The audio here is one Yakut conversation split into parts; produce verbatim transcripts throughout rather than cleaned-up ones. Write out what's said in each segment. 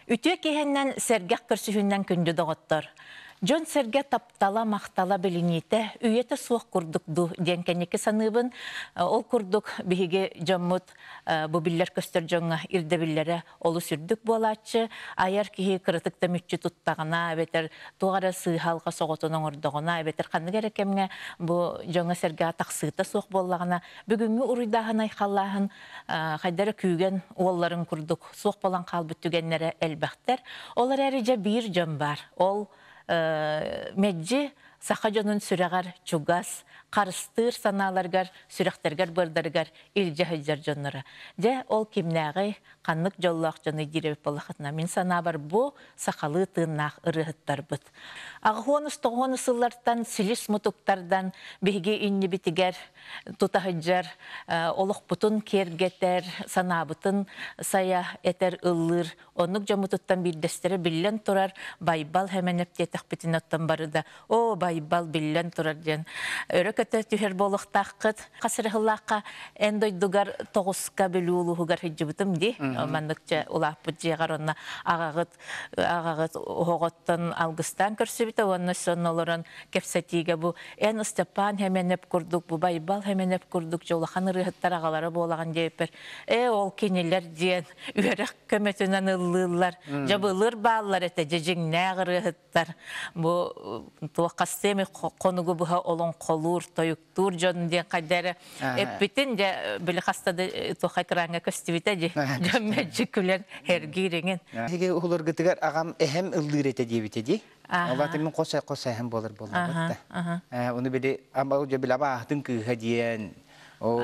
Үтүө киһиннэн сэргэх көрсүһүннэн күндү доҕоттор. Дьон сэргэ таптала, махтала билиниитэ үйэтэ суох курдук ду диэн кэнники саныыбын. Ол курдук биһиги дьоммут бу биллэр көстөр дьоҥҥо ирдэбиллэрэ олус үрдүк буолааччы. Айар киһи кыратык да мүччү туттаҕына, эбэтэр туох эрэ сыыһалга соҕотун оҥордоҕуна, эбэтэр ханнык эрэ кэмҥэ бу дьоҥҥо сэргэҕэ тахсыыта суох буоллаҕына, бүгүҥҥү уруйдааһын айхаллааһын хайдара күүгэн уолларын курдук суох болан хаалбыт түгэннэрэ элбэхтэр. Ол эрээри дьэ биир дьон бар. Ол меджи саха дьонун сүрэҕэр чугас, харыстыыр санааларгар, сүрэхтэргэр бырдарыгар илдьэ сылдьар дьонноро. Дьэ, ол кимнээҕи ханнык дьоллоох дьону диирэбит буоллахытына, мин санаабар бу сахалыы тыыннаах ырыаһыттарбыт. Аҕыһуонус тоҕуонус сыллартан силис мутуктардан биһиги иннибитигэр тутаһыдьар, олохпутун киэргэтэр, санаабытын сайа этэр ыллыыр, оннук дьоммутуттан биирдэстэрэ биллэн турар Байбал Хэмэнэп диэтэхпитин оттон бары да «О, Байбал биллэн турар» диэн өрө көтө түһэр буолуохтааххыт. Хасырыһыллаахха эн дойдугар тоҕуска Бүлүү улууһугар сылдьыбытым дии. Манныкча улааппыт дьиэҕэр онно аҕаҕыт аҕаҕыт оһоҕоттон алгыстаан көрсүбүтэ уонна сонно олорон кэпсэтиигэ бу эн Степан Хэмэнэп курдук, бу Байбал Хэмэнэп курдук дьэ улахан ырыаһыттар аҕалара буолаҕын диэбиппэр, ээ ол кинилэр диэн үөрэх көмөтүнэн ыллыыллар, дьабылыр бааллар этэ дьэ дьиҥнээх ырыаһыттар. Бу туох хастыами хонугу быһа олоҥхолуур, тойуктуур дьон диэн хайда эрэ эппитин дьэ били хаста да туох экраҥҥа көстүбүтэ дии. Дьон мэлдьи күлэн эргиириҥин. Эһиги уһуларгытыгар аҕам эһэм ыллыыр этэ диэбитэ дии. Ол мин хос хос эһэм буолар буоллабыт да. Ону били ама дьэ били абааһытын кыыһа диэн, ол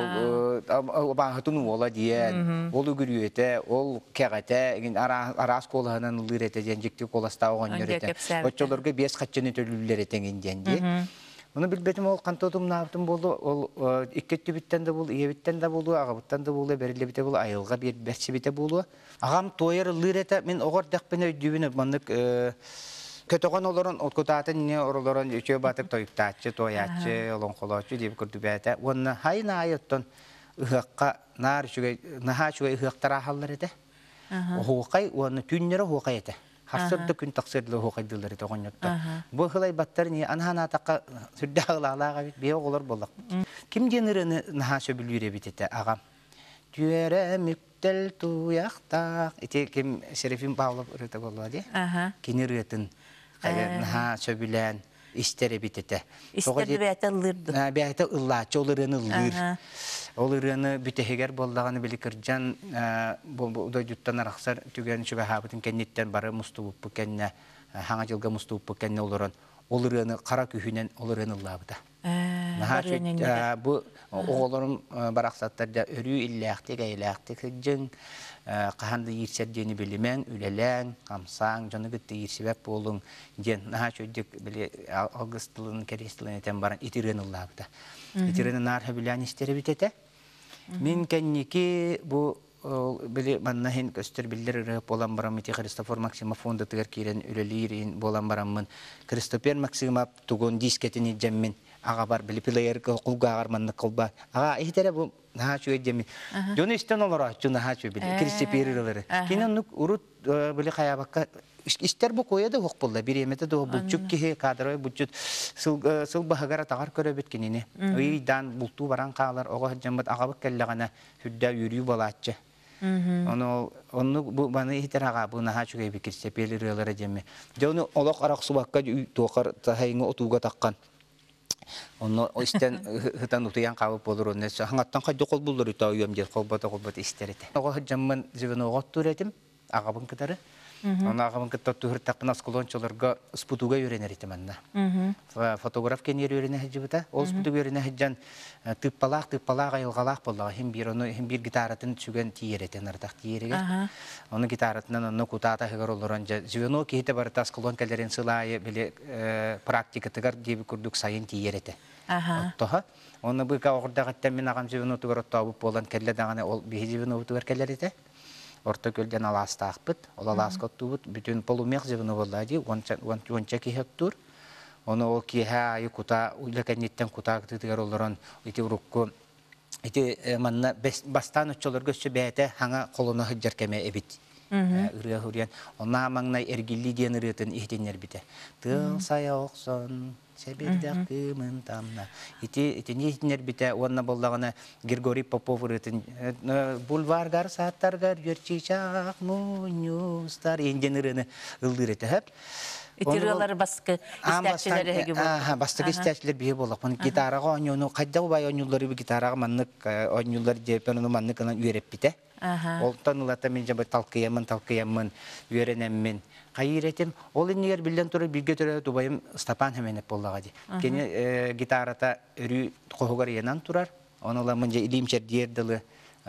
абааһытын уола диэн, ол үгүрүөтэ, ол кэҕэтэ, араас куолаһынан ыллыыр этэ диэн дьикти куоластаах оҕонньор этэ. Оччолорго биэс хаччыны төлүүллэр этэҥин диэн дии. Ону билбэтим ол хантотумнаабытым буолу, ол икки өттүбүттэн да буолу, ийэбиттэн да буолу, аҕабыттан да буолу, бэриллибитэ буолу, айылҕа биэрбэччибитэ буолуо. Аҕам туойар ыллыыр этэ, мин оҕор дэхпин өйдүүбүн маннык көтөҕөн олорон, кутаатын не оролорон үчүө батык тойуктааччы, туойааччы, олоҥхолооччу диэби курдубээтэ. Уонна хайын аайы оттон ыһыахха наар үчүгэй, наһаа үчүгэй ыһыахтар аахаллар этэ. Оһуохай уонна түүннэрэ оһуохай этэ. Харсыр да күн тахсыр да оһуохайдыылар этэ оҕонньоттор. Бу ыһылайбаттар не анаһанаатахха сүрдээх ылаалаах эбит, бие оҕолор буоллахпыт. Ким диэн ырыаны наһаа сөбүлүүр эбит этэ аҕам. Түөрэ мүктэл туйахтаах. Ити ким Серафим Павлов ырыата буолла дии. Кини ырыатын наһаа сөбүлээн истэр эбит этэ. Истэр бэйэтэ ыллыырды. Бэйэтэ ыллааччы, ол ырыаны ыллыыр. Ол ырыаны бүтэһигэр буоллаҕына били кырдьан дойдуттан арахсар түгэн чугаһаабытын кэнниттэн бары мустубуппу кэннэ, хаҥа дьылга мустубуппу кэннэ олорон ол ырыаны хара күһүнэн ол ырыаны ыллаабыта. Наһаа бу оҕолорум барахсаттар да өрүү иллээхтик, эйэлээхтик сылдьыҥ, хаһан да иирсэр диэни билимэҥ, үлэлээҥ, хамсааҥ, дьону кытта иирсибэт буолуҥ диэн наһаа үчүгэйдик били алгыс тылын, кэриэс тылын этэн баран ити ырыаны ыллаабыта. Ити ырыаны наар сөбүлээн истэр эбит этэ. Мин кэнники бу били манна иһин көстөр биллэр ырыа буолан барам ити Христофор Максимов фондатыгар киирэн үлэлиир буолан бараммын Христофер Максимов тугун дискетин илдьэммин аҕабар били плеерга кулгааҕар маннык кылба аҕа иһитэрэ бу наһаа үчүгэй диэммин дьону истэн олорооччу наһаа үчүгэй били Кристопер ырыалары кини оннук урут били хайаабакка истэр бу куойа да уох буолла бириэмэтэ да булчук киһи кадровай булчут сыл сыл баһыгар атаҕар көрөбүт кинини ыйдаан бултуу баран хаалар оҕо сылдьаммыт аҕабыт кэллэҕинэ сүрдээх үөрүү буолааччы. Ону онну бу баны иһитэр аҕа бу наһаа үчүгэй бикир сепел ырыалара диэмми. Дьэ ону олох арахсыбакка туохар таһайыҥы отууга таххан. Онно истэн хытан утуйан хаалып болор онно хаҥаттан хайдах холбуллар үтэ уйам диэн холбото холбот истэр этэ. Оҕо сылдьаммын звеноҕа оттуур этим аҕабын кытары. Оны аҕабын кытта оттуур осколончолорго спутуга үйренер этим анна. Фотограф кенер үйренер сылдьыбыта. Ол спутуга үйренер сылдьан тыппалаах тыппалаах айылҕалаах боллаҕа хим бир ону хим бир гитаратын сүгэн тиийэр этэ нардах тиийэригэр. Ону гитаратынан онно кутаата ыгар олорон дьэ звено киһитэ барыта осколон кэлэрин сылаайы били практикатыгар диэби курдук сайын тиийэр этэ. Оттоһо. Онно быка оҕурдаҕыттан мин аҕам звенотугар оттообут буолан кэллэ даҕаны ол биһи звенобутугар кэлэр этэ. Орто көлден алаастаахпыт, ол алааска оттуубут бүтүн полумех звено буолла дии, уонча киһи оттуур. Ону ол киэһэ айы кута, үлэ кэнниттэн кута кытыытыгар олорон ити урукку ити манна бастаан оччолорго өссө бэйэтэ хаҥа холоно сылдьар кэмэ эбит. Ырыа хуруйан, онна маҥнай Эргилли диэн ырыатын иһитиннэрбитэ. Тыал сайа охсон, сэбирдэх кыымын тамна. Ити итини иһитиннэрбитэ уонна боллаҕына Григорий Попов ырыатын бульваргар сааттаргар үөрчичаах мунньустар диэн ырыаны ыллыыр этэ. Ити ырыалар баскы истээччилэр эһиги буолла. Бастакы истээччилэр биһи буоллах. Гитараҕа оонньууну хайда убай оонньууллары гитараҕа маннык оонньууллар диэппэн ону маннык ынан үөрэппитэ. Олтон ылата мин жабы талкыйаммын талкыйаммын үөрэнэммин хайыр этим. Ол иннигэр биллэн турар бииргэ төрөөбүт убайым Степан Хеменеп буоллаҕа дии. Кини гитарата өрүү хоһугар ыйанан турар. Оны ыламмын же илиим чэрдиэр дылы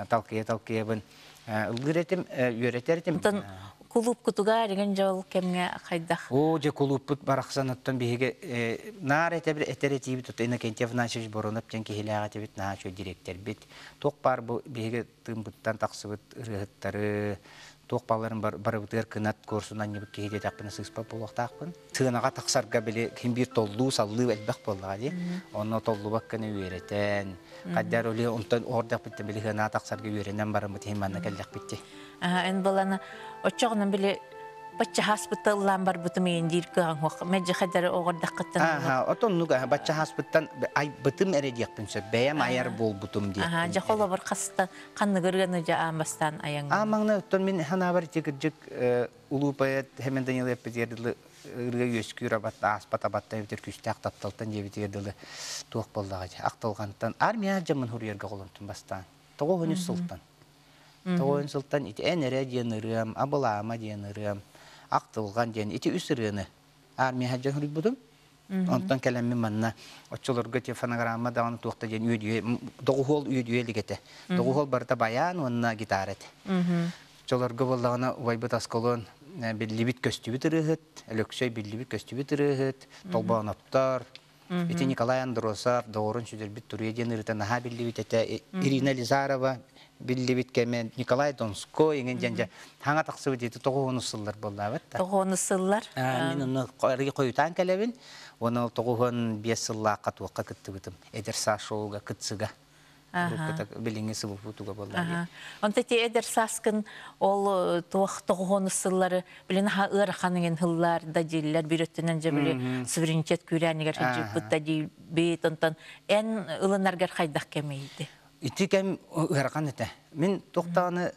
талкыйа талкыйабын ыллыыр этим, үөрэтэр этим. Кулууп кутуга деген жол кемге хайдах? О, же кулууппут барахсан оттон биһиги наар этебир этер этиибит отто Иннокентий Афанасьевич Боронов диэн киһилээх этибит, наһаа үчүгэй директорбит. Туох баар бу биһиги тыымбыттан тахсыбыт ырыаһыттары, туох бааларын барыбытыгар кынат куорсун анньыбыт киһи диэтэхпинэ сыыспат буолуохтаахпын. Сыанаҕа тахсарга били ким биир толлуу саллыы элбэх буоллаҕа дии. Онно толлубакканы үөрэтэн, хаддар оли онтон оордахпыттан били сыанаҕа тахсарга үөрэнэн бараммыт иһин манна кэллэхпит дии. Эн баланы оччоҕунан били бачча хаспытта ыллаан барбытым иин диир кыаҕыҥ хуох мэдьи хадары оҕордаххыттан. Аха, отоннук бачча хаспыттан айбытым эрэ диэхпин сөп, бэйэм айар буолбутум диэхпин. Аха, дьэ холобур хаста ханныгырыаны дьэ аан бастаан аяҥ. Аа маҥна оттон мин ханаабар ити кырдьык улуу поэт Хемен Данилов эппитигэр дылы ырыа үөскүүр абат ааспат абаттан эбэтэр күүстээх тапталтан диэбитигэр дылы туох буоллаҕа дии ахтылҕантан армия дьаммын хуруйарга холонтум бастаан. Тоҕо үс сылтан. Тоҕо сылтан ити эн эрэ диэн ырыам, абылаама диэн ырыам, ахтылҕан диэн ити үс ырыаны армия дьон хуруйбутум. Онтон кэлэммин манна оччолорго те фонограмма даҕаны туохта диэн үөдүйэ доҕуһуол үөдүйэ илик. Доҕуһуол барыта баян уонна гитара этэ. Оччолорго буоллаҕына убайбыт Аскалон биллибит көстүбүт ырыаһыт, Өлөксөй биллибит көстүбүт ырыаһыт, Толбооноптор, ити Николай Андросов, доҕорун сүдэрбит Туруйа диэн ырыта наһаа биллибит этэ, Ирина Лизарова биллибит кэмэ, Николай Донской иҥин диэн дьэ хаҥа тахсыбыт ити тоҕуһуон сыллар буоллаабыт да. Тоҕуон сыллар. Мин онно хойутаан кэлэбин, оны тоҕуһуон биэс сыллаахха туохха кыттыбытым. Эдэр саас шоуга кытсыга. Билиҥҥи сыбыппутуга буоллар. Онто ти эдэр сааскын ол туох тоҕуһуон сыллары билин аха ыараханыгын хыллар да дииллэр бир өттүнэн же били суверенитет күүрээнигэр хыдьыппыт да диибит онтон эн ылынаргар хайдах кэмийди? Ити кэм ыарахан этэ. Мин тохтааны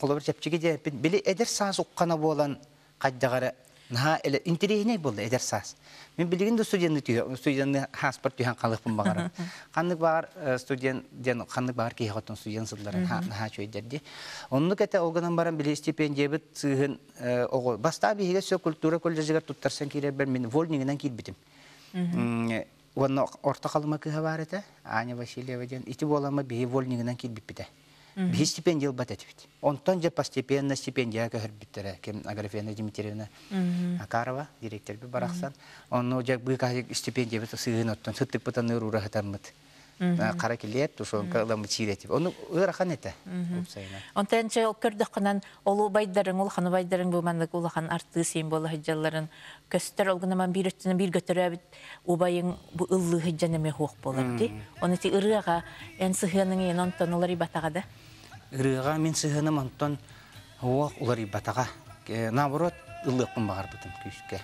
холобур чэпчиги диэппин били эдэр саас уккана буолан хайдагара наһаа эле интириэһинэй буолла эдэр саас. Мин билигин да студентны түйө студентны хаспар түһэн халыппын багарам. Ханнык багар студент диэн ханнык багар киһи хоттон студент сылларын наһаа чөйдерди. Оннук эте олганан баран били стипендиябыт сыыһын ого баста биһиге сө культура колледжигер туттарсан киирербер мин вольнигинен киирбитим. Уонна орто халыма кыһа бар этэ, Аня Васильева диэн. Ити буолама биһи вольнигинен киирбиппитэ. Биһи стипендия ылбат этибит. Онтон же постепенно стипендия көһөрбүттэрэ. Кем Аграфена Дмитриевна Акарова, директорби барахсан. Онно же быка стипендия бит сыһын оттон сыттык бытаны рура хатаммыт. Кара килиэп тушонка ыламы чиретип. Ону ыарахан этэ. Онтон че көрдөхкүнэн олу байдарын, улахан байдарын бу маннык улахан артыыс син бола хыджалларын көстөр олгунаман бир өттүнэн бир көтөрөбүт убайың бу ыллыы хыджан эме хуох болар ди. Оны ти ырыага эн сыһыаның ен онтон улар ибатага да. Ырыага мин сыһыаным онтон хуох улар ибатага. Наоборот ыллыакпын багарбытым күүскэ.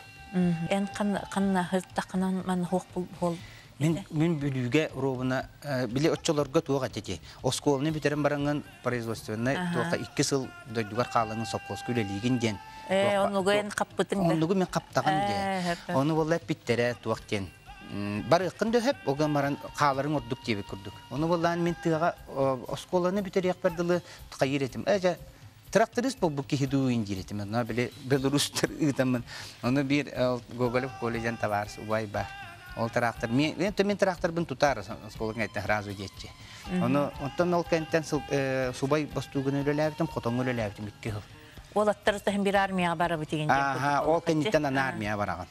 Эн канна хыртакынан ман хуох бол Мин мин бүлүүгэ ровна били отчолорго туох этити. Осколны бүтерен баранган производственный туоха икки сыл дойдугар хаалаңын совхоз күлелигин диэн. Э, оннугу эн каппытың да. Оннугу мен каптаган диэн. Ону болла питтере туох диэн. Барыккын дөһөп, оган баран хааларын ордук диэби курдук. Ону боллаан мен тыага осколаны бүтериэк бардылы кайыр этим. Эжа тракторист бол бу кихи дуу индиретим. Она биле Беларустар ыытаммын. Ону бир Гоголев колледжен товарищ убай бар. Ол трактор, мен мен тракторбын тутар, осколок айтты сразу детчи. Оны онтон ол кенттен субай бастугын өлеләбитим, хотоң өлеләбитим икки хыл. Ол аттар тахын бир армияга барабы деген. Аха, ол кенттен ана армия бараган.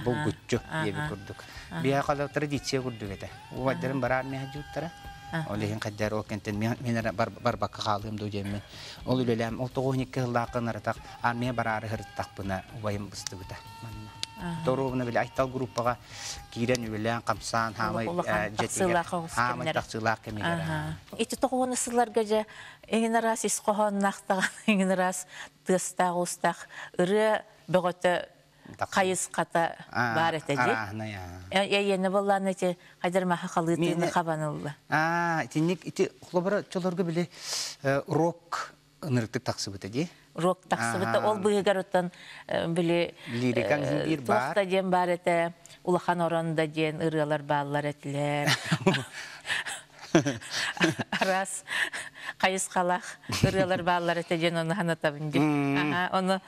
Бул гүтчү диеби курдук. Бия кала традиция курдук эте. Убайдарын бар армия жуттара. Ол ихин каддар ол кенттен мен бар бакка халым ду жеммен. Ол үлеләм, ол тогуз икки хыллаакын аратак армия барары хырыттакпына убайым быстыбыта. Манна. Торуобуна били Айтал группаҕа киирэн үлэлээн хамсаан хаамай дьэтигэр хаамай тахсыылаах кэмигэр. Ити тоҕуону сылларга дьэ эҥин араас ис хоһоонноох эҥин араас тыастаах уустаах ырыа бөҕөтө хайысхата баар этэ дии. Эйиэнэ буоллаан ити хайдар маха халыытыны хабанылла. Аа, итинник ити холобура чолорго били рок ынырыктык тахсыбыта дии. Рок тахсыбыта ол быыгар оттон били лирикаң биир бар. Туохта диэн бар этэ, улахан оронда диэн ырыалар бааллар этилэр. Арас хайысхалах ырыалар бааллар этэ диэн ону ханатабын дии. Ону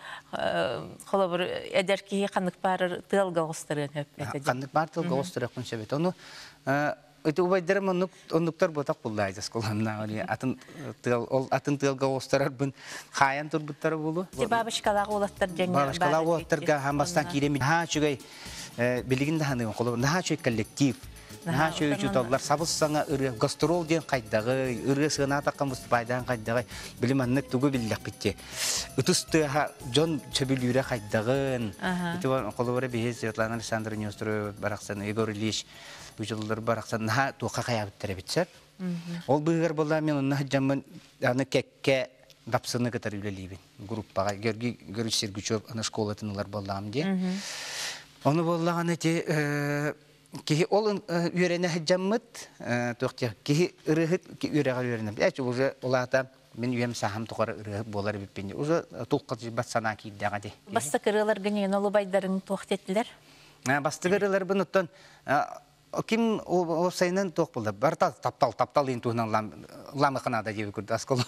холобур эдэр киһи ханнык баарыр тыалга оҕустарыан хөп этэ. Ханнык баар тыалга оҕустарыахпын сөп этэ. Ону ити убайдарым оннук оннуктар ботах буллаайда осколанна атын тыал ол атын тыалга оҕустарарбын хаайан турбуттара булу. Бабочкалаах уолаттар дьэҥҥэ бабочкалаах уолаттарга хамбастан кииремин ха үчүгэй билигин да ханыгын холобур наһаа үчүгэй коллектив наһаа үчүгэй учууталлар сабыс саҥа ырыа гастрол диэн хайдаҕый ырыа сыанаатахха выступайдаан хайдаҕый билим аннык тугу биллэхпитти ытыс тыаха дьон сөбүлүүрэ хайдаҕын ити холобура биһи Светлана Александровна Неустроева барахсан Егор Ильич учууталлар барахсан наһаа туохха хайаабыттар эбитсэр. Ол быыгар буолла мен онно сылдьаммын аны кэккэ дапсыны кытары үлэлиибин группаҕа Георгий Георгиевич Сергучев аны школатын ылар буоллаҕым дии. Ону буоллаҕына ити киһи ол үөрэнэ сылдьаммыт туох диэх киһи ырыаһыт үөрэҕэр үөрэнэ. Эч уже улаата мин үйэм саһам тухары ырыаһыт буолар эбиппин. Уже тулхадьыйбат санаа киирдэҕэ дии. Бастакы ырыаларгын иҥэн олубайдарыҥ туох диэтилэр? Бастакы ырыаларбын оттон ким уопсайынан туох буолла барыта таптал таптал диэн туһунан ламыханаада диэби курдук аскол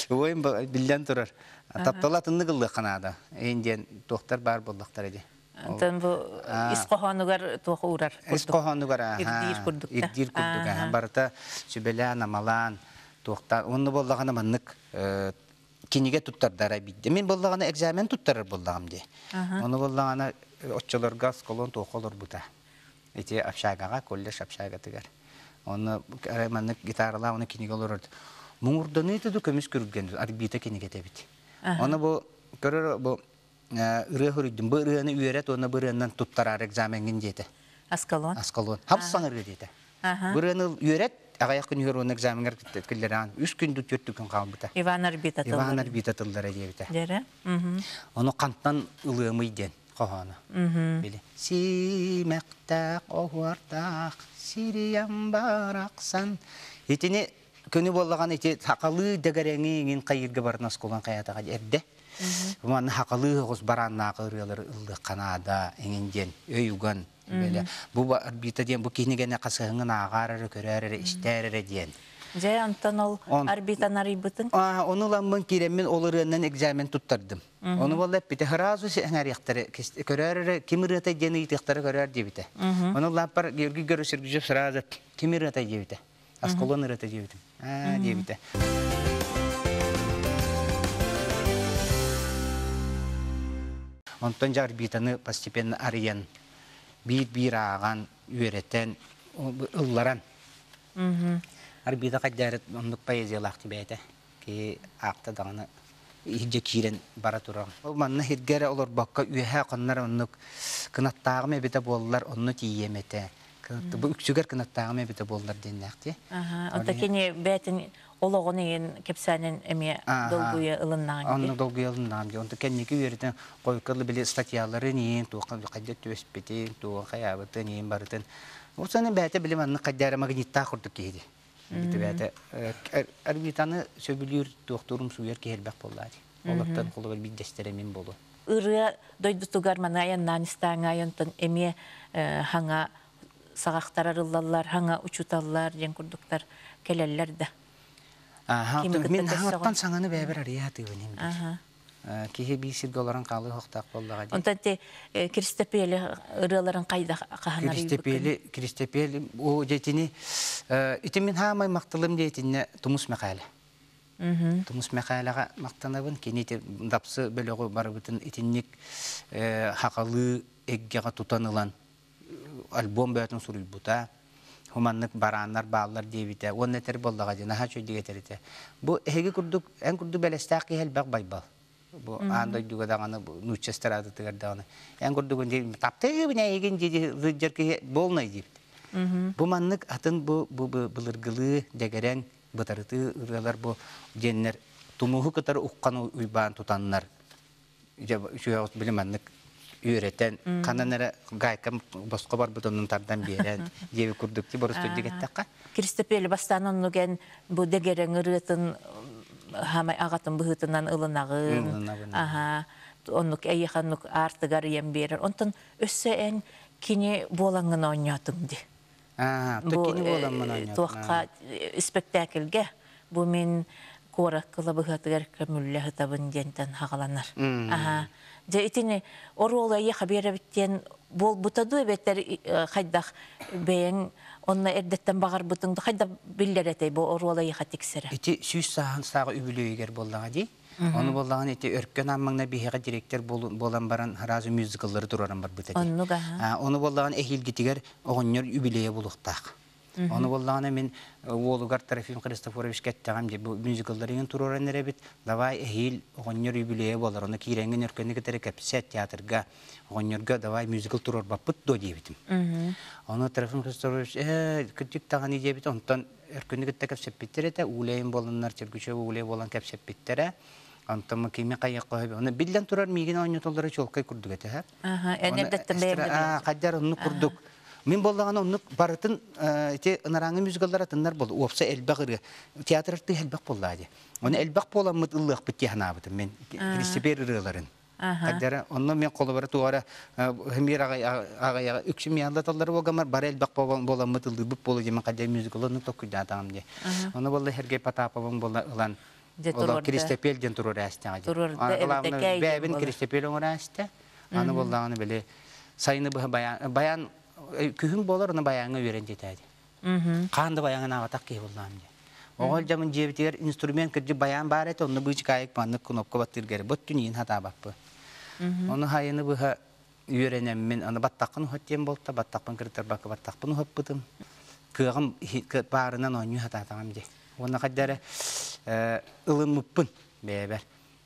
ойын биллэн турар таптал атыннык ыллыахханаада эйин диэн туохтар баар буоллахтара ди Онтон бу ис хоһоонугар туох уурар ис хоһоонугар ирдиир курдук ирдиир курдук барыта сүбэлээн амалаан туохтаан онно буоллаҕына маннык кинигэ туттардара бидде мин буоллаҕына экзамен туттарар буоллаҕым ди ону буоллаҕына оччолорго осколон туохха олорбута ити общагаҕа колледж общагатыгар онно маннык гитаралаах оны кинигэ олорор муҥурданыы туду көмүс күргэн арбита кинигэтэ эбит оны бу көрөр бу ырыа хоруйдум бу ырыаны үөрэт уонна бу ырыанан туттараар экзаменгин диэтэ Аскалон Аскалон хапсан ырыа диэтэ бу ырыаны үөрэт аҕыйах күн үһөр уонна экзаменгар киллэрээн үс күн түөрт күн хаалбыта Иван Арбита Иван Арбита тыллара диэбитэ дьэрэ ону хантан ылыамый диэн хоһооно били сиимэхтээх оһуортаах сириям барахсан итини күнү буоллаҕан ити хакалыы дэгэрэҥи иҥин хайырга баран осколон хайатаҕа эрдэ манна хакалыы оҕус барааннаах ырыалары ыллыахханаада иҥин диэн өй уган бу арбита диэн бу кинигене хасыһыҥын ааҕаар эрэ көрөөр эрэ истээр эрэ диэн Дьэ, онтон ол арбитан арыйбытын? Ону ламмын киирэммин ол ырыаннан экзамен туттардым. Ону буолла эппитэ сразу сэҥээриэхтэрэ көрөөр эрэ ким ырыатай диэн ыйытыахтара көрөөр диэбитэ. Ону лааппар Георгий Георгиевич сразу ким ырыатай диэбитэ. Асколон ырыата диэбитим. Аа диэбитэ. Онтон дьэ арбитаны постепенно арыйан биир-биир ааҕан, үөрэтэн, ылларан. Арбита хайдары оннук поэзиялаах бэйэтэ. Ки аакта даҕаны иһирдьэ киирэн бара турар. Ол манна сиргэ эрэ олорбокко үөһэ хоннор оннук кынаттааҕым эбитэ буоллар онно тиийиэм этэ. Бу үксүгэр кынаттааҕым эбитэ буоллар диэннээхти. Онто кини бээтин олоҕун иһин кэпсээнин эмиэ долгуйа ылыннаҕын Онно долгуйа ылыннаҕым дии. Онто кэнники үөрэтэн хойукка били статьяларын иһин туохха хайдах түбэспитин, туох хайаабытын иһин барытын. Ол саны бэйэтэ били маннык хайдара магниттаах курдук киһи дии. Бэйэтэ арбитаны сөбүлүүр туохтуурум сууйар киһи элбэх буоллаа дии. Олортон холобур биирдэстэрэ мин буолуо. Ырыа дойдутугар маны айаннаан истээҥ айантан эмиэ хаҥа саҕахтар арыллаллар, хаҥа учууталлар диэн курдуктар кэлэллэр да. Аха, мин хаҥаттан саҥаны бэйэбэр арыйа сатыыбын иһин биир. Киһи биир сиргэ олорон хаалыы охтоох буоллаҕа дии. Онтон ти Кристопели ырыаларын хайда хаһан Кристопели, Кристопели, о дьэтини ити мин хаамай махталым диэтинне Тумус Мэхээлэ. Тумус Мэхээлэҕэ махтанабын. Кини ити дапсы бөлөҕү барыбытын итинник хахалыы эггэҕэ тутан ылан альбом бөтүн суруйбута. Хуманнык барааннар бааллар диэбитэ. Уонна этэр буоллаҕа дии, наһаа үчүгэйдик этэр этэ. Бу эһиги курдук, эн курдук бэлэстээх киһи элбэх байбал. Бу аан дойдуга даҕаны, нуучча эстрадатыгар даҕаны. Эн курдугун дии таптыыбын эйигин дии сылдьар киһи буолнай диэбит. Бу маннык атын бу бу былыргылыы дэгэрэн бытарытыы ырыалар бу диэннэр тумуһу кытары уххан уйбаан тутаннар үчүгэй били маннык үөрэтэн ханан эрэ гайка босхо барбыт оннун тардан биэрэн диэби курдук ти боростуй дигэттэххэ. Кристопели бастаан оннуген бу дэгэрэн ырыатын хамай агатын быһыытынан ылынагын. Аха, оннук эйиханнук артыгар ием берер. Онтон өссө эн кини буолаңын оонньоотуҥ ди. Аа, то кини буоламмын оонньоотум. Туохха спектакльге бу мин куорат кылабыһатыгар көмүллэ хытабын диэнтэн хагаланар. Аха. Дьэ итини оруола эйиэхэ биэрэбиттиэн буолбута дуу эбэтэр хайдах бэйэҥ онно эрдэттэн баҕарбытыҥ хайда биллэр этэй бу оруола эйиэхэ тиксэрэ? Ити сүүс сааһын сааҕы үбүлүөйүгэр буоллаҕа дии. Ону буоллаҕына ити өркөн ааммаҥна биһиэхэ директор буолан баран сразу мюзикллары тураран барбыта дии. Оннук аха. Ону буоллаҕына эһиилгитигэр оҕонньор үбүлүөйэ буолуохтаах. Ону буоллаҕына мин уолугар Трофим Христофоровичка эттэҕим дии, бу мюзиклларыгын туруоран эрэбит, давай эһиил оҕонньор үбүлүөйэ буолар, ону киирэҥҥин өркөнү кытары кэпсэт театрга, оҕонньорго давай мюзикл туруорбаппыт дуо диэбитим. Ону Трофим Христофорович ээ кырдьык даҕаны диэбит, онтон өркөнү кытта кэпсэппиттэр этэ, Уулэйин буоланнар, Чергучева Уулэй буолан кэпсэппиттэрэ. Онтон кими хайык хоһо, оны биллэн турар миигин оонньотоллоро чуолкай курдук этэ. Аха, эн эрдэттэн бэйэм Хадьар оннук курдук. Мин боллаҕына оннук барытын ити ынарааҥы мюзикллар атыннар бол уопса элбэх ырыа театр артыыс элбэх буоллаа дии. Оны элбэх буоламмыт ыллыахпыт дии санаабытым мен Кристопер ырыаларын. Хадьара онно мен холобара туара хэмиэр аҕай үксүм яаллаталлар буолгамар бары элбэх буоламмыт ыллыырбыт буолу диэн хадьар мюзиклы оннук токкуйдаатаҕым дии. Оны болла Сергей Потаповым болла ылан Дьэ Олор Кристопел диэн туруор ээстэҕэ дии. Туруорда эбэтэ Бэйэбин Кристопел оҥор ээстэ. Аны боллаҕына били сайыны быһа баян баян күһүн буолар оны баяҥҥа үөрэн диэтээди. Хаан да баяҥын аҕатах киһи буоллаам дии. Оҕол дьамын дьиэбитигэр инструмент кырдьык баян баар этэ, онно быычыкаайык маннык кнопка баттыыргары бот түнүйін хатаабаппы. Оны хайыны быһа үөрэнэммин, аны баттаххын ухат диэн болта, баттахпын кыртарбакка баттахпын ухаппытым. Кыаҕым баарынан оонньуу хатаатаҕым дии. Уонна хайдары ылыммыппын бэйэбэр.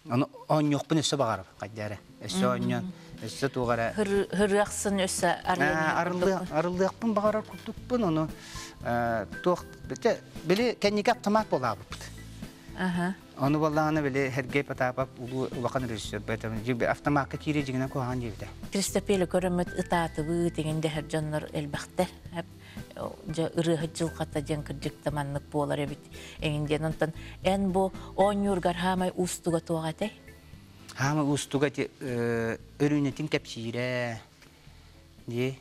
Оны оонньуохпун өссө баҕарабын хайдары. Өссө оонньоон, өссө туох эрэ Хырыахсын өссө арыллыахпын баҕарар курдукпун, ону туох били кэнники автомат буолаабыппыт. Ону боллаҕына били Сергей Потапов улуу улахан режиссер поэтому автомакка киирэ дьиҥинэн куһаҕан диэбитэ. Кристопели көрөммүт ытаатыбыт тигин дэһэр дьоннор элбэхтэр. Дьэ ырыаһыт дьылҕата диэн кырдьыкта маннык буолар эбит эҥин диэн. Онтон эн бу оонньуургар хаамай уустуга туох этэй? Хаамай уустуга ти өрүүнэтин кэпсиирэ дии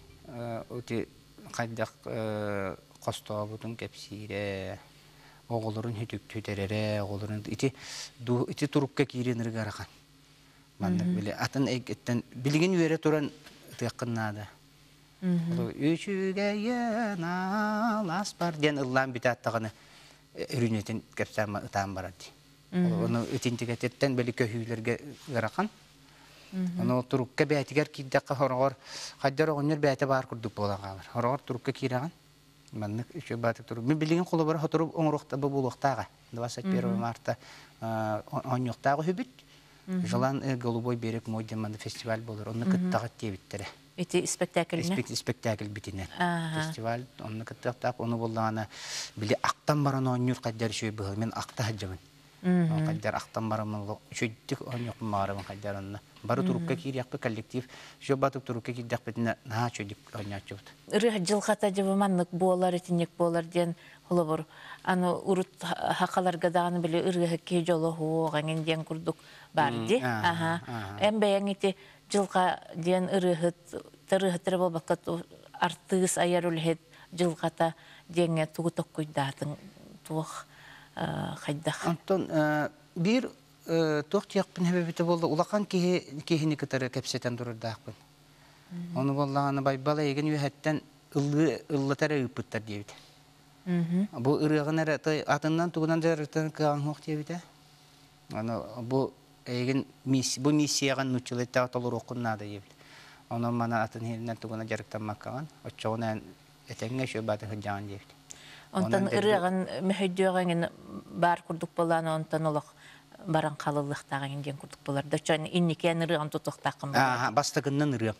ути хайдах хостообутун кэпсиирэ оҕолорун хүтүктүтэрэрэ оҕолорун ити ити турукка киирин ырыгарахан маннык били атын эйгэттэн билигин үөрэ туран ытыаххын наада. Үчүгэйэн алаас бар диэн ыллаан бүтааттаҕына өрүүнэтин кэпсээн ытаан барар дии. Ону итинтигэтиттэн били көһүүлэргэ ыарахан. Ону турукка бээтигэр киирдэххэ хороҕор хайдар оҕонньор бээтэ баар курдук буолан хаалар. Хороҕор турукка киирэҕин маннык үчүгэй баатык турук. Мин билигин холобура хотору оҥоруохта буолуохтааҕа. двадцать первого марта оонньуохтааҕы үһүбүт. Желан Голубой берег мой диэн манна фестиваль буолар. Онно кыттаҕыт диэбиттэрэ. Ити спектакльне? Спектакль битинэн. Фестиваль онно кыттыахтаах. Ону буоллаҕына били актан баран оонньуур хайдар үчүгэй быһыл. Мен акта сылдьабын. Хайдар актан баран үчүгдүк оонньуохпун баҕарабын хайдар онно. Бары турукка киириэхпит коллектив. Үчүгэй батык турукка киирдэхпитинэ наһаа үчүгдүк оонньооччубут. Ырыа дьылҕата дьыбы маннык буолар, итинник буолар диэн холобур. Аны урут хакаларга даҕаны били ырыаһыт киһи дьоло хуоҕ эҥин диэн курдук бар ди. Аха. Эн бэйэҥ ити дьылҕа диэн ырыаһыт ырыаһыттара буолбакка артыыс айар үлэһит дьылҕата диэҥҥэ тугу токкуйдаатыҥ туох хайдах? Онтон биир туох диэхпин хэбэбитэ буолла улахан киһи киһини кытары кэпсэтэн турардаахпын. Ону буоллаҕына Байбал эйигин үөһэттэн ыллыы ыллатар ыыппыттар диэбит. Бу ырыаҕын эрэ атыннан тугунан дьарыктан кыаҕыҥ суох диэбитэ. Аны бу эйигин бу миссияҕын нууччалыйдаҕа толоруоххун наада диэбит. Онон мана атын иһинэн тугунан дьарыктаммаккаҕын оччоҕуна эн этэҥҥэ үчүгэй бааты сылдьаҕын диэбит. Онтон ырыаҕын мөһөйдүөҕэҥин баар курдук буолаан онтон олох Баран халыллыктаагын диэн курдук болар. Да чон инникен ырыан тутуктаакын болар. Бастыгыннан ырыам.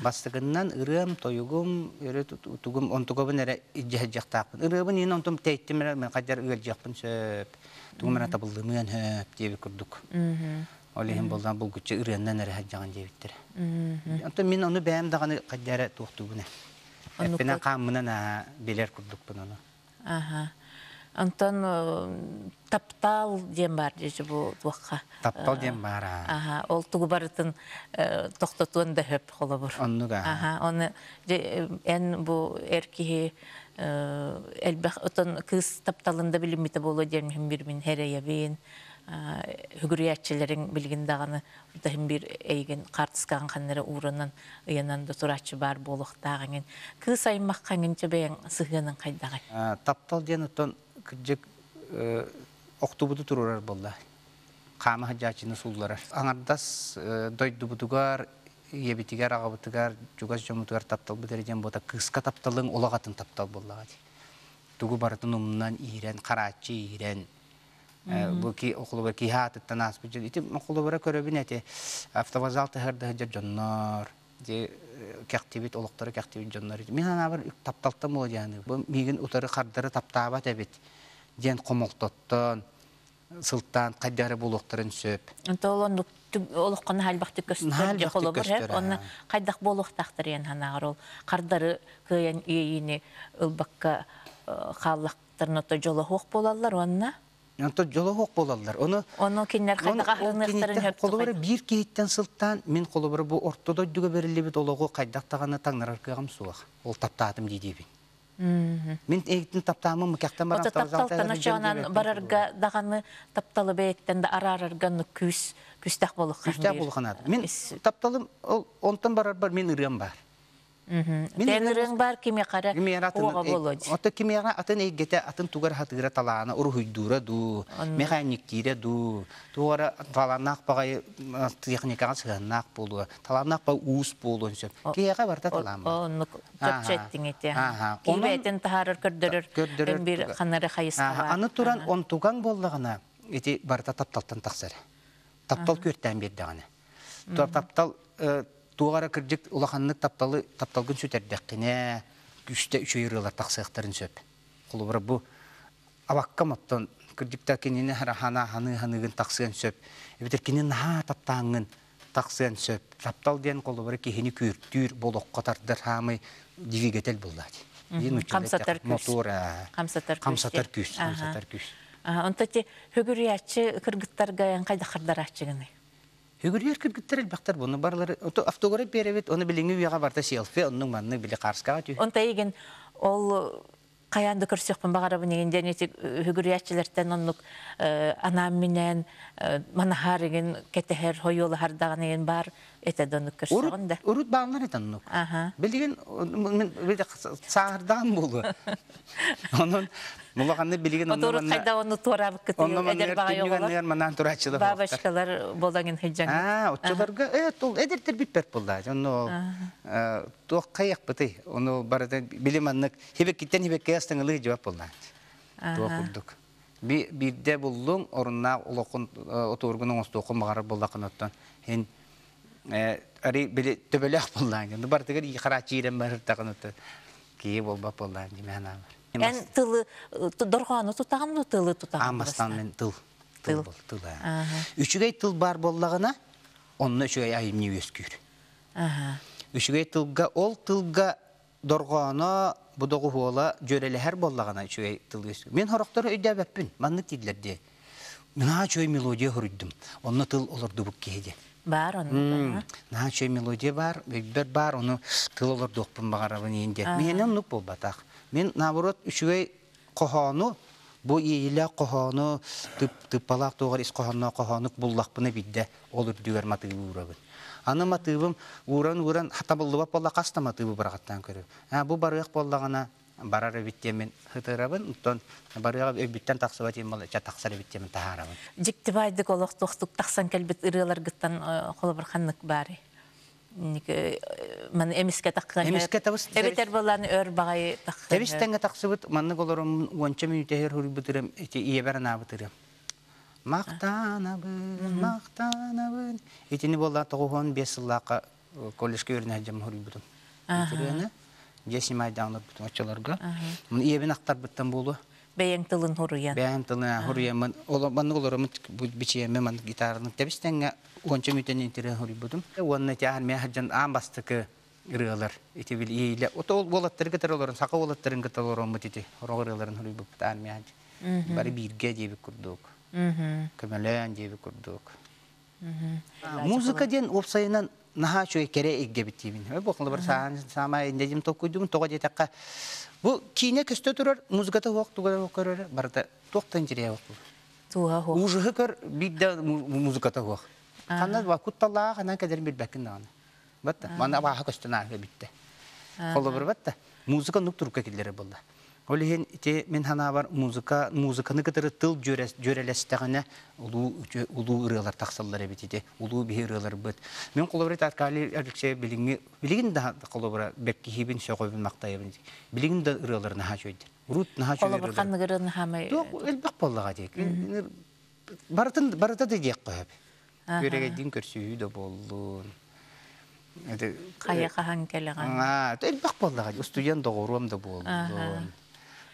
Бастыгыннан ырыам, тойугум, өрө тугум, онтугабын эрэ ижжэһэжжэхтаахпын. Ырыабын иин онтум тейттим эрэ мен хадьар ыалдьыахпын сөп. Тугум эрэ табыллымыан хөп диэби курдук. Ол иһин болдан булгуччу ырыаннан эрэ хаджаҕан диэбиттэр. Онтон мин ону бэйэм даҕаны хадьара туохтуубун. Эппинэн хааммынан билэр курдукпун ону. Аха. Онтон таптал диэн бар дии бу туохха. Таптал диэн бар. Аха, ол тугу барытын тохтотуон да хөп холобур. Оннуга. Аха, оны эн бу эр киһи элбэх отон кыз тапталында билиммите боло диэн мин бир мин хереябин хүгүрүяччилерин билгин даганы утахин бир эйген картыскаган ханнары уранан ыянан да турачы бар болуктаагын кыз аймаккаңын чебең сыгынын кайдагы. Таптал диэн отон кырдьык октубуту турурар болла. Хаама хаджаачыны суулларар. Аңардас дойдубутугар, ебитигер, агабытыгар, жугас жомутугар таптал бу дережен бота кыска тапталың олагатын таптал боллага. Тугу барытын умнан иирен, караачы иирен. Бу ки окулубар ки хаатыттан аспы жыл. Ити окулубара көрөбүн эти автовокзал тахырда жа жоннор. Же кәктибит олоктары кәктибит жоннор. Мен ана бар тапталтан боло жаны. Бу мигин утары кардары таптаабат эбит. Ден комолтоттон, сылтан каддары болуктарын сөп. Онтолон олохкон халбакты көстөр же холобур хеп, оны кайдак болуктактыр ен ханагар ол кардары кыян иейини ылбакка халлактырны то жоло хук болалар онна. Онто жоло хук болалар. Оны Оны киннер кайдак ахырыныктарын хөп. Холобур бир кейиттен сылтан мен холобур бу ортодо дүгө берилибит ологу кайдактаганы таңнарар кыгам суак. Ол таптаатым дейдибин. Мен эгитин таптаамын мыкяктан барам. Ото тапталтан очоонан барарга даганы тапталы бейттен да арарарга күс күстах болук. Күстах болук анат. Мен тапталым ол онтон барар бар мен ырыам бар. Мен ырыаң бар киме кара ого болот. Ото киме атын эгете атын тугар хатыра талаана уруhuйдура ду, механиктире ду, тугара талаанак багай техникага сыганак болу, талаанак ба уус болу сөп. Кияга барта талаан бар. Онну көпчеттиң эте. Кибетин тахарыр көрдөрөр бир ханары хайыска. Аны туран он туган боллагана эти барта тапталтан таксар. Таптал көртән бердигане. Таптал туғара кырдьык улаханнык тапталы тапталгын сүтердеккине күстэ үчөйрылар тахсыахтарын сөп. Холобура бу абакка моттон кырдьыкта кинини хана ханы ханыгын тахсыан сөп. Эбитер кини наха таптааңын тахсыан сөп. Таптал диэн холобура киһини күртүүр болохко тардар хаамый двигатель буллаати. Хамсатар күс. Мотор. Хамсатар күс. Хамсатар күс. Хамсатар күс. Онто те хөгүрүячы кыргыттарга кайда кырдарачыгыны? Хөгүрүер кыргыттар элбактар буну барлары автограф беребит, оны билиңи уяга барта селфи, оннуң манны били карскага түй. Онта еген ол каянды көрсөкпүн багарабын деген денети хөгүрүячылардан оннук анам менен манахар деген кетехер хойолу хардаган деген бар эте донук көрсөгөн да. Урут баалар эт оннук. Билген мен саардан болу. Онун мулаганны билген онун. Урут кайда ону туурабык кытыы эдер бага йоголор. Манан турачылар. Бабашкалар болагын хыджан. А, отчуларга э тол эдертер биппер болду. Ону туох каяк быты. Ону барда билим аннык хибеккиттен хибекке астыңылы жабап болду. Туох курдук. Бирде буллуң орунна олокун отургун оңостуокун багарар боллакын оттон. Хен ари били төбөлөх боллаан. Ну бартыгар и карачирен бар тагын отто. Кие болбап боллаан димена бар. Эн тылы доргону тутаган тылы тутаган. Амастан мен тыл. Тыл бол, тыл. Үчүгэй тыл бар боллагына, онно үчүгэй айымны өскүр. Үчүгэй тылга, ол тылга доргону будогу хуола жөрелехер боллагына үчүгэй тыл өскүр. Мен хороктору өйдөбөппүн, манны тидлер де. Мен ачой мелодия хоруйдум. Онно тыл олорду бук кеде. Бар онно. На чой мелодия бар, бер бар, оны тыл олордуокпун багарабын енде. Мен оннук болбатак. Мен наоборот үчүгэй кохоону бу ииле кохоону тыппалаак тугар ис кохонно кохоонук буллакпыны бидде ол үрдүгөр матыыбы уурабын. Аны матыыбым ууран ууран хатабыллыбап болла каста матыыбы барагаттан көрөм. А бу барыак боллагана барар биттемен хытырабын, оттон барыга өбүттен тахсыба тем бала ча тахсар биттемен тахарабын. Жиктибайдык олохтохтук тахсан келбит ырыалар гыттан холобур ханнык баары. Ман эмиске тахкан. Эмиске табыс. Эбетер болан өр багай тахкан. Тебистенге тахсыбыт маннык олорум уонча мүнүтэ хер хурбутырым эти иебер анаабытырым. Махтанабын, махтанабын. Итини буолла тоҕуһун бес сыллаахха колледжка үөрэнэ сылдьан хоруйбутум. Итирээне дьиэ симайдаан олорбутум оччолорго. Мун ийэбин ахтарбыттан буолуо. Бэйэҥ тылын хоруйан. Бэйэм тылын хоруйаммын, маннык олороммут бичиэммин маннык гитараны тэбис-тэҥҥэ уонча мүтэн итирэн хоруйбутум. Уонна ити армия сылдьан аан бастакы ырыалар ити бил иилэ ото уолаттары кытары олорон саха уолаттарын кытары олороммут ити орох ырыаларын хоруйбуппут армия бары бииргэ диэбит курдук. Көмөлөөн диэбит курдук. Музыка диэн уопсайынан наһаа үчүгэй кэрэ эйгэбит диибин. Бу холобур саамай иннедим толкуйдубун тоҕо диэтэххэ бу киинэ көстө турар музыката суох туга суох көрөр барыта туохтан дьириэ суох. Туга суох. Ужаһы көр биирдэ музыката суох. Ханна ба кутталлаах ханан кэлэрин билбэккин даҕаны. Батта мана абааһы көстөн ааһа бүттэ. Холобур батта музыка нук турукка киллэрэр буолла. Ол иһин ити мин санаабар музыка музыканы кытары тыл дьүөрэлэстэҕинэ улуу улуу ырыалар тахсаллар эбит ити улуу биһи ырыаларбыт. Мин холобура Аркадий Алексеев билиҥҥи билигин да холобура бэркиһиибин сөҕөбүн махтайабын билигин да ырыалары наһаа үчүгэйдэр. Урут наһаа үчүгэй Холобур ханнык ырыаны хаамай Туох элбэх буоллаҕа диэк. Барытын барыта да диэххэ сөп. Күөрэгэйдиин көрсүһүү да буоллун. Хайа хаһан кэлэҕин. Аа, элбэх буоллаҕа. Устудьуон доҕоруом да буоллун.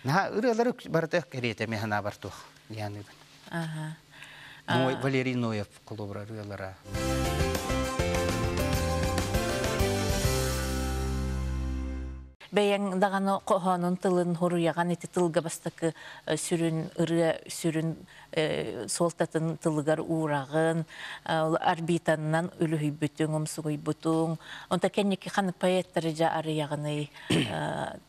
Наһаа ырыалары барыта кэриэтэ мен санаабар туох дианыыбын. Аха. Ной, Валерий Ноев холобура ырыалара. Бэйэҥ даҕаны хоһоонун тылын хоруйаҕан ити тылга бастакы сүрүн ырыа сүрүн суолтатын тылыгар уураҕын, орбитаннан үлүһүйбүтүҥ, умсугуйбутуҥ. Онто кэнники ханнык поэттары дьа арыйаҕыный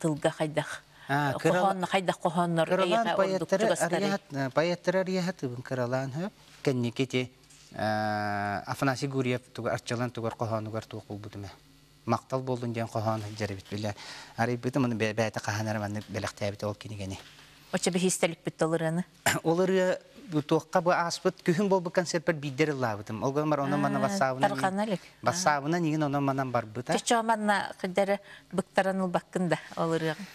тылга хайдах хоһоон хайдах хоһооннор кыралаан поэттары арыйаһат поэттары арыйаһатыбын кыралаан хөп кэнники ити Афанасий Гурьев тугар арчылан тугар хоһоонугар туох булбутум мактал болдун диэн хоһоон сылдьар биле арыйбытым аны бэйэтэ хаһан эрэ маннык бэлэхтээбит ол кинигэни. Оччо биһиистэликпит ол ырыаны. Ол ырыа туохха бу ааспыт күһүн буолбут концертпэр биирдэр ыллаабытым. Ол гынан онон манна бассаабынан Тарҕана илик. Бассаабынан игин онон манан барбыта. Чочоо манна кыдары быктаран ылбаккын да ол ырыаҕын.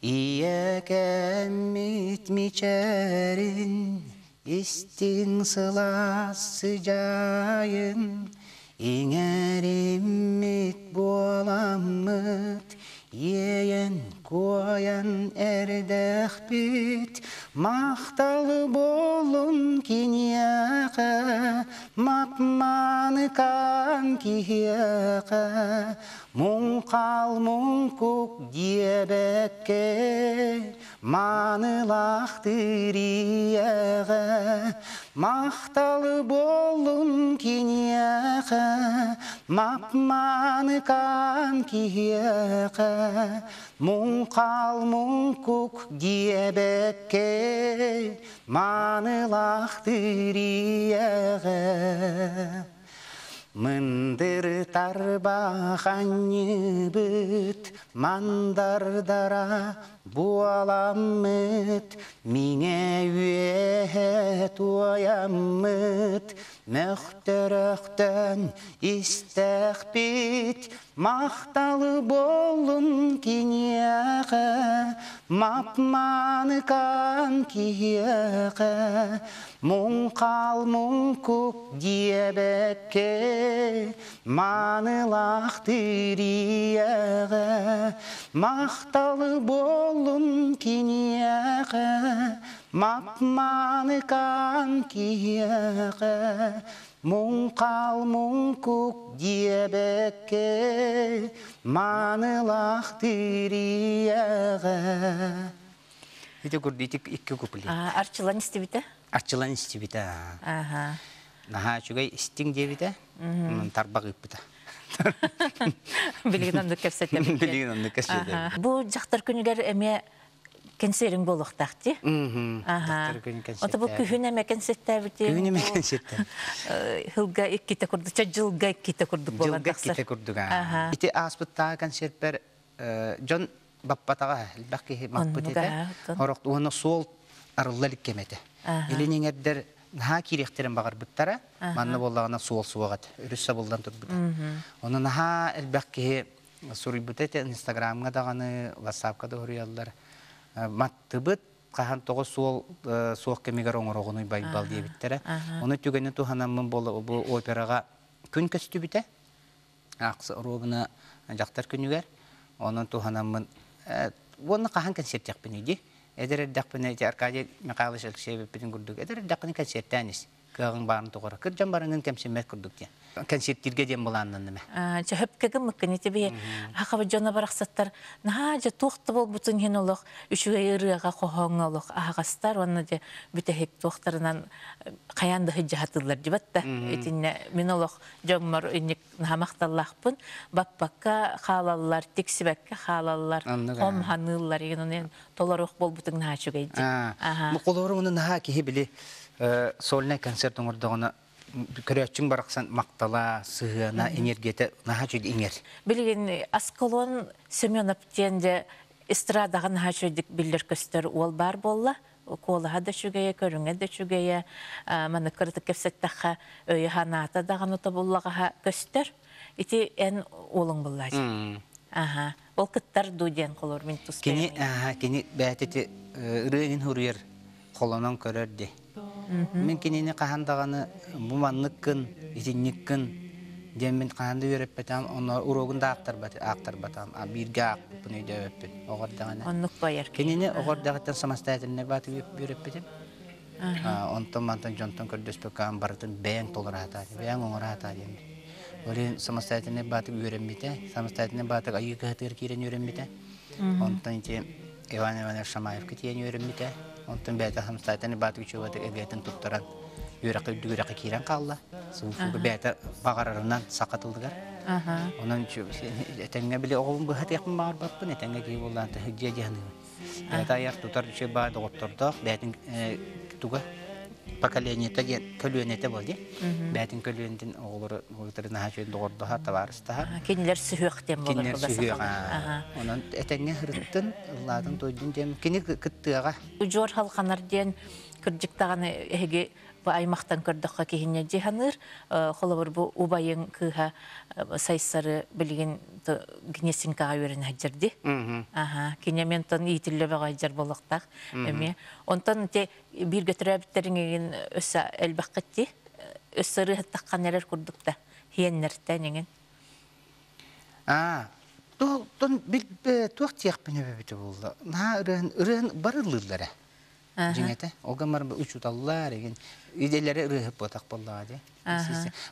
Ийэ кэммит мичээрин, истиҥ сылаас сыдьаайын, иҥэриммит буоламмыт, иэйэн куойан эрдэхпит, махтал буолун киниэхэ, мапманыкан киһиэхэ, муҥхал муҥкук диэбэккэ, маанылаахтыр ийэҕэ, махтал буолун киниэхэ, мапманыкан киһиэхэ, муҥхал муҥкук диэбэккэ, маанылаахтыр ийэҕэ. Мындыр тарбах анньыбыт, мандардара буоламмыт, миҥэ үөһэ туойаммыт, мөхтөрөхтөн истэхпит, махтал буолун киниэхэ, мапманыкан киһиэхэ, муҥхал муҥкук диэбэккэ, маанылаахтыр ийэҕэ, махтал буолун киниэхэ, мапманыкан киһиэхэ, муҥхал муҥкук диэбэккэ, маанылаахтыр ийэҕэ. Ити курдук ити икки куплет. Арчылан истибитэ? Арчылан истибитэ. Аха. Наһаа үчүгэй истиҥ диэбитэ, тарбах ыыппыта. Билигин оннук кэпсэтэбит. Билигин оннук кэпсэтэбит. Бу дьахтар күнүгэр эмиэ кэнсиэриҥ буолуохтаах дии. Дьахтар күнүн Ото бу күһүн эмэ кэнсиэттээбити. Күһүн эмэ кэнсиэттээбит. Хылга иккитэ курдук, ча жылга иккитэ курдук буолан Жылга тахсар. иккитэ курдук. Ити ааспыттааҕы концертпэр дьон баппатаҕа элбэх киһи маппыт этэ. Хорох уонна суол арылла илик кэм этэ. Илин эҥэрдэр наһаа киириэхтэрин баҕарбыттара. Манна буоллаҕына суол суох этэ. Өрүс сабыллан турбута. Онон наһаа элбэх киһи суруйбута этэ. Инстаграмҥа даҕаны, ватсапка да суруйаллар. Маттыбыт, Хаһан тоҕо суол суох кэмигэр оҥороҕунуй Байбал диэбиттэрэ. Ону түгэни туһанаммын буола бу операҕа күн көстүбүтэ. Аахса оруобуна дьахтар күнүгэр. Онон туһанаммын уонна хаһан концерттиэхпиний дии. Эдэр эрдэхпинэ ити Аркадий Михайлович Алексеевиппитин курдук эдэр эрдэххинэ концерттаан ис. Кыаҕыҥ баарын тоҕоро. Кырдьан бараҥҥын кэмсиммэт курдук диэн. Концерттииргэ диэн былааннанным ээ. Чөһөпкө гыммыккын ити биһи хахаба дьоно барахсаттар наһаа дьэ туох да буолбутун иһин олох үчүгэй ырыаҕа хоһооҥҥо олох аһаҕастар уонна дьэ бүтэһик туохтарынан хайаан да сыдьаһатыллар дибат да итиннэ мин олох дьоммор инник наһаа махталлаахпын баппакка хаалаллар тиксибэккэ хаалаллар Оннук хом аа. ханыыллар игин онон толоруох буолбутуҥ наһаа үчүгэй дии. Аа, Аха. бу холобур уну наһаа киһи били сольнай концерт оҥордоҕуна көрөөччүҥ барахсан махтала, сыһыана, энергията наһаа үчүгэй иҥэр. Билигин Аскалон Семенов диэн дьэ эстрадаҕа наһаа үчүгэйдик биллэр-көстөр уол баар буолла. Куолаһа да үчүгэйэ, көрүҥэ да үчүгэйэ, маннык кыратык кэпсэттэххэ өйө-санаата даҕаны тобуллаҕаһа көстөр. Ити эн уолуҥ буллаачы. Аха. Ол кыттар дуу диэн холор мин тус Кини бэйэм. аха кини бэйэтэ ырыа иҥин суруйар, холонон көрөр дии. Мин кинини хаһан даҕаны бу манныккын, итинниккин диэн мин хаһан да үөрэппэтэҕим, онно уруогун да аахтарбат, аахтарбатаҕым, а бииргэ аахпыппын өйдөөбөппүн оҕо эрдэҕинэ. Оннук байар киһи. Кинини оҕо эрдэҕиттэн самостоятельнай бааты үөрэппитим. Онтон мантан дьонтон көрдөспөккө барытын бэйэҥ толоро сатаа, бэйэҥ оҥоро сатаа диэммит. Ол иһин самостоятельнай баатык үөрэммитэ, самостоятельнай баатык айыы кыһатыгар киирэн үөрэммитэ. Онтон ити Иван Иванович Шамаевка тиийэн үөрэммитэ. Онтон бэйэтэ самостоятельнай баатык үчүгэй эбиэтин туттаран үөрэххэ үрдүк үөрэххэ киирэн хаалла. Сууфуга бэйэтэ баҕарарынан саха тылыгар. Онон этэҥҥэ били оҕобун быһатыахпын баҕарбаппын, этэҥҥэ киһи буоллаан дьиэ дьаһаныыбын. Бэйэтэ айар тутар үчүгэй баа доҕоттордоох, бэйэтин туга поколениета диэн көлүөнэтэ буол дии. Бэйэтин көлүөнэтин оҕолору оҕолору наһаа үчүгэй доҕордоһор, табаарыстаһар. Кинилэр сүһүөх диэн буолар Кинилэр була сүһүөх. сахалар. Онон этэҥҥэ ырыттын, ыллаатын тойдун диэн кини кыттыаҕа. Удьуор халханар диэн кырдьыктаҕаны эһиги бу аймахтан көрдөххө киһинньэ дьиһаныыр холобур бу убайын кыыһа сайсары билигин Гнесинкаҕа үөрэнэ сылдьар Аха, кинементон иитиллэ бөҕө болуохтаах эмиэ. Онтон те бииргэ төрөөбүттэриҥ өссө элбэххитти өссө ырыһыттаххан эрэр курдук да хиэннэртэн эҥин. Аа, тон туох тиэхпин эбэбитэ буолла. Наһаа ырыан ырыан барыллыыллара. Дьиҥэтэ, ол гамар учууталлар эгин иделери ырыаһыт буотах буоллаҕа дии.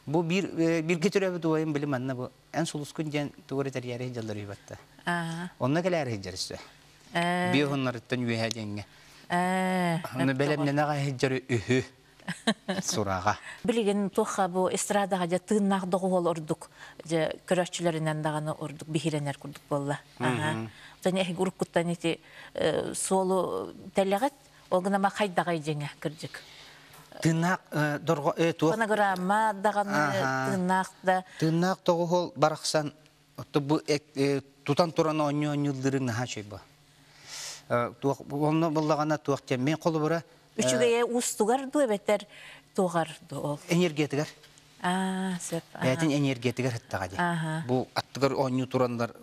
Бу биир бииргэ төрөөбүт убайым били манна бу эн сулускун диэн тугу эрэ тэрийээри сылдьаллар үһү Онно кэлээри сылдьар өссө. Биэ уһуннарыттан үөһэ диэҥҥэ. Онно бэлэмнэнэ сылдьар үһү сураҕа. Билигин туохха бу эстрадаҕа дьэ тыыннаах доҕуһуол ордук дьэ көрөөччүлэринэн даҕаны ордук биһирэнэр курдук буолла. Оттон эһиги уруккуттан ити суолу тэлэҕит, ол гынама хайдаҕай дьиҥэ кырдьык. Тыыннаах дорго туох Фонограмма даҕаны тыыннаах да Тыыннаах тоҕуһуол барахсан бу тутан туран оонньуу оонньуулларын наһаа үчүгэй бу. Туох онно буллаҕына туох диэн мен холобура үчүгэйэ уустугар дуу эбэтэр туоҕар дуу ол. Энергиятыгар. Аа, сөп. Бэйэтин энергиятыгар ыттаҕа дии. Бу аттыгар оонньуу тураннар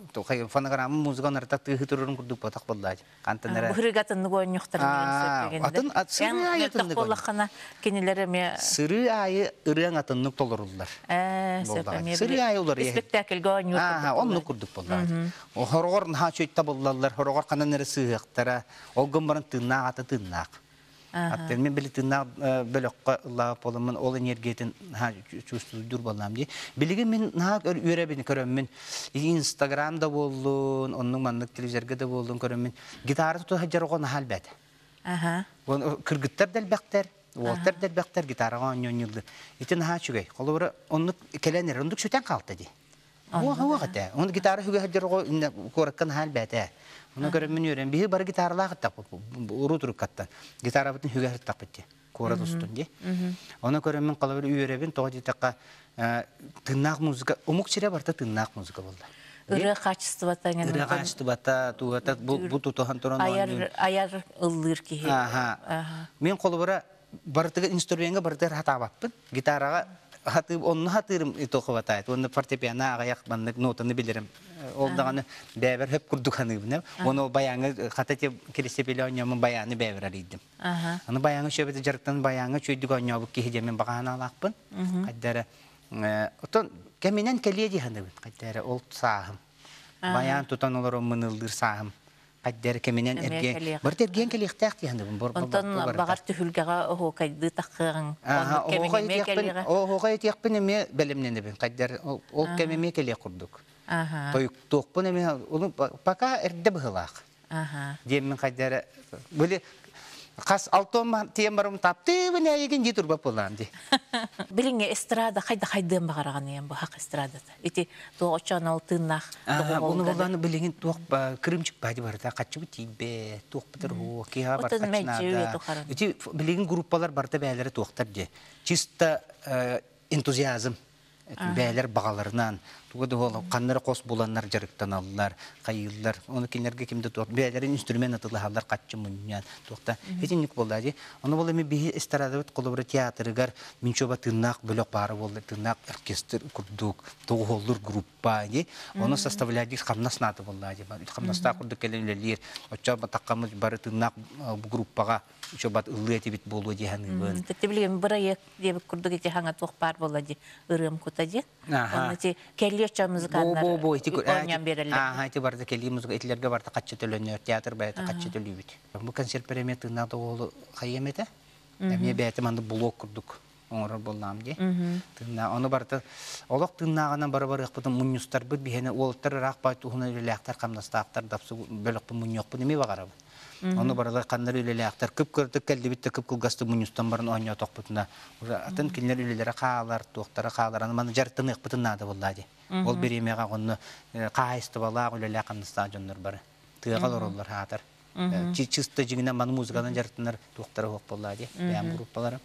фонограмма музыка нарта тыыһы турарын курдук ботах боллаа. Хантан эрэ Быһырыга атыннык оонньуохтарын деген сөп Атын сырыы аайы атыннык буоллаххына кинилэр эмиэ сырыы аайы ырыаҥ атыннык толоруллар. Ээ, сөп эмиэ Сырыы аайы улар спектакльга оонньуур Аа, оннук курдук боллаа. Хороҕор наһаа үчүгэй табыллаллар, хороҕор ханан эрэ сыыһыахтара, ол гын баран тыыннаах ата тыыннаах. Аттен мен били тыыннаах бөлөххө ыллаабыт буоламмын ол энергиятын чувствуйдур буоллаам дии. Билигин мин наһаа үөрэбин көрөммүн Инстаграм да буоллун, оннук маннык телевизорга да буоллун көрөммүн гитара тута сылдьар оҕо наһаа элбээтэ. Кыргыттар да элбэхтэр, уолтар да элбэхтэр гитараҕа оонньоонньууллар. Ити наһаа үчүгэй. Холобура оннук кэлэн эрэр, оннук сүтэн хаалта дии. Уох уох этэ. Оны гитара хүгэ сылдьар оҕо куоракка наһаа элбээтэ. Оны көрөммүн үөрэн. Биһи бары гитаралаах уруу туруккаттан. Гитарабытын хүгэ сыртахпыт дии. Куорат устун дии. Оны көрөммүн холобур үөрэбин тоҕо диэтэххэ тыыннаах музыка, омук сирэ барыта тыыннаах музыка буолла. Ырыа качествота Ырыа качествота, тугата бу бу тутуһан туран айар айар ыллыыр киһи. Аха. Мен холобура барытыга инструментга барытыгар хатаабаппын. Гитараҕа Хаты онну хатырым тохобатайт. Онну фортепиано аҕыйах маннык нотаны билэрим. Ол даҕаны бэбер хөп курдук ханыыбын. Оны баяңы хата те кирисепеле оñомун баяны бэбер арыйдым. Аны баяңы шөбөтө жарыктан баяңы чөйдүк оñобук киһи демен багаана алаакпын. Кайдара отон кеминен келие ди ханыбын. Кайдара ол саахым. Баян тутан олорон мынылдыр саахым. Кайдара кеминен эрге. Бар терген келиэхтээх ди ханыбын. Онтон багар түһүлгэҕэ оһуокайды таххыаҕыҥ. Оһуокай тиэхпин эме белемненебин. Кайдара ол кемеме келиэ курдук. Тойуктуохпун эме пока эрде быһылаах. Диэммин кайдара били Қас алтон тием барым таптыбын әйеген ди турбап болам ди. Билиңе эстрада хайда хайдыан багараган бу хак эстрадата. Ити туох очон ол тыыннах. Буну боланы билиңин туох кырымчык бади барда качыбы тибе туох битер ху киха бар качнада. Ити билиңин группалар барда бәйләре туохтар ди. Чисто энтузиазм. Бәйләр бағаларынан, туга да ол каннары кос буланнар жарыктаналлар, кайыллар, оны кинерге кимде туак бәйләрин инструмент атылахалар катчы муньян, туакта этинник болду ди. Оны бол эми биһи эстрадабыт колобура театрыгар минчоба тыннак бөлөк бары болду, тыннак оркестр курдук, тогуоллур группа ди. Оны составляли хамнас наты болду ди. Хамнаста курдук келен оча таккамыз бары тыннак группага чобат ыллы этибит болду ди ханыбын. Тетте билген бырайык деп курдук эти хаңа туох бар болду ди. Ырым кута ди. Оны ти келли оча музыканнар Бо бо ити оñан береллер. Аха, ити барда келли музыка этилерге барда катчы төлөнөр, театр баяты катчы төлүүбүт. Бу концерт премия тыына тоголу хайемете. Эме бәйти манды блок курдук. Оңорор болнам ди. Тыына оны барда олок тыынаагынан бара бар ыхпытын муннюстар бит бихене олтар рак бай тухуна үлелээхтер камнастаактар дапсы бөлөкпүн мунньокпун эме багарабын. Оны баралар каннар үлелээхтер кып көрдүк келди битте кып кылгасты муннюстан барын оñо токпутуна. Атын кинлер үлелере хаалар, туохтара хаалар, аны маны жартын ыхпытын нада боллади. Ол биремега онны каайсты бала үлелээ камнаста жоннор бары. Тыгал ороллар хаатар. Чисто жигинен маны музыкадан жартынар туохтара хоқ боллади. Бәм группаларым.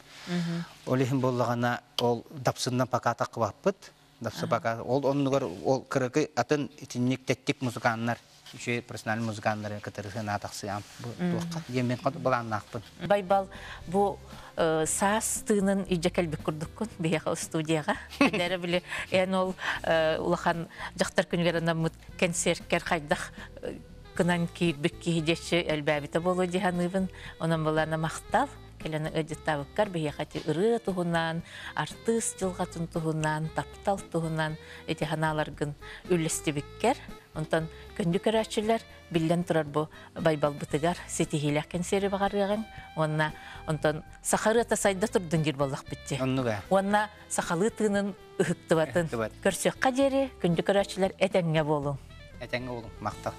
Олихин боллагана ол дапсындан пока такыбаппыт. Дапсы пока ол оннугар ол кырыкы атын итинник теттик музыканнар үчү профессиональ музыканнар кытырысын атаксыям бу туохка диэн мен балааннаахпын. Байбал бу саас тыынын ижа келбик курдуккун биһиэхэ студияга. Дәрі биле эн ол улахан жактар күнүгер анаммыт концерткер хайдах кынан киирбик киһи элбээбите болу диханыбын. Онон балана мактал келени ыдьыттабыккар биһиэхэ ырыа туһунан, артыыс дьылҕатын туһунан, таптал туһунан ити ханааларгын үллэстибиккер. Онтон көндү көрөөчүлэр биллен турар бу байбалбытыгар ситиһиилэх кэнсиэри багарыаҕын. Онна онтон сахарыата сайда турдун дир боллах битти. Оннуга. Онна сахалыы тыынын ыһыктыбатын. Ыһыктыбат. Көрсүөххэ диэри көндү көрөөчүлэр этэҥҥэ буолуҥ. Этэҥҥэ буолуҥ, махтал.